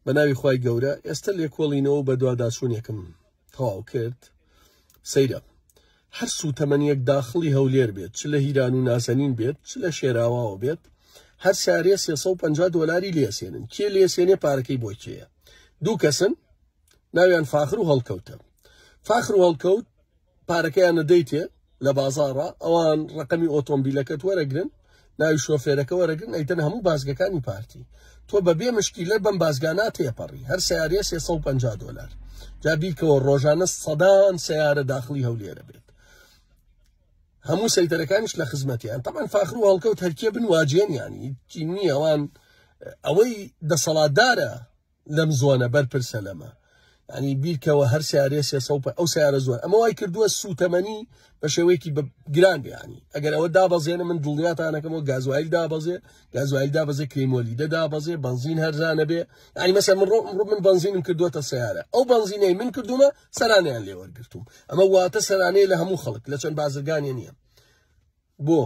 بە ناوی خوای گەورە ئێستا لێکۆڵینەوە و بەدواداچوونێکم تەواو کرد سەیرە هەر سوتەمەنیەک داخڵی هەولێر بێت چ لە هیران و نازەنین بێت چ لە شێراواوە بێت هەر سارێ 350 دۆلاری لێسێنن کێ لێسێنێ پارەکەی بۆ کێیە دوو کەسن ناویان فاخر و هەڵکەوتە فاخر و هەڵکەوت پارەکەیان نەدەیتێ لە بازاڕا ئەوان ڕقەمی ئۆتۆمبیلەکەت وەرەگرن ناوی شۆفێرەکە وەرەگرن ئەیتەن هەموو بازگەکانی پارتی تۆ بە بێ مشکیلە بەم بازگانە تێپەڕی هەر سیارەیە 350 دۆلار جا بیرکەوە ڕۆژانە سەدان سیارە داخلی هەولێرە بێت هەموو سەیتەرەکانیش لە خزمەتیان تەمان فاخر و هەڵکەوت هەرکێ بن واجێن ینی نییە ئەوان ئەوەی دەسەڵاتدارە لەم زۆنە بەرپرسە لەمە ینی بیرکەوە هەر سیارەیە سێ سەد ئەو سیارە زۆر ئەمە وای کردووە سوتەمەنی بە شێوەیەکی گران بیانی ئەگەر ئەوە دابەزێنە من دڵنیاتانەکەمەوە گازوایل دابەزێ گازوایل دابەزێ کرێمۆلیدە دابەزێ بەنزین هەرزانە بێ ینی مەسە من ڕۆ من بەنزینم کردووەتە سیارە ئەو بەنزینەی من کردومە سەرانیان لێ وەرگرتوم ئەمە واتە سەرانەیە لە هەموو خەڵک لە چەند بازرگانی نییە بۆ؟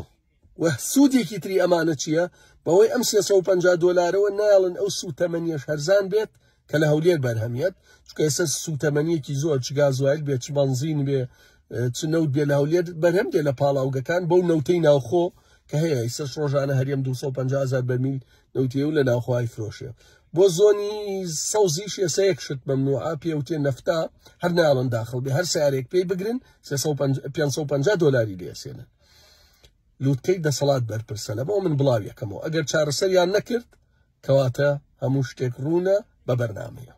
وە سوودێکی تری ئەمانە چییە؟ بەوەی ئەم 350 دۆلارەوە نایەڵن ئەو سووتەمەنیەش هەرزان بێت کە لە هەولێر بەرهەمیەت چونکە ئێستا سووتەمەنیەکی زۆر چ گازوایل بێت چ بەنزین بێ چ نەوت بێ لە هەولێر بەرهەم دێ لە پاڵاوگەکان بەو نەوتەی ناوخۆ کە هەیە ئێستا ڕۆژانە هەرێم 250 هزار بەرمیل نەوتێ و لە ناوخۆی فرۆشێ بۆ زۆنی سەوزیش ئێستا یەک شت مەمنوعە پێوتێ نەفتا هەر ناڵن داخڵ بێ هەر سیارێک پێی بگرن 550 دۆلاری لێسێنن لوتکەی دەسەڵات بەرپرسە لەمەوە من بڵاویەکەمەوە ئەگەر چارەسەریان نەکرد کەواتە هەموو شتێک ڕوونە بە بەرنمەیە.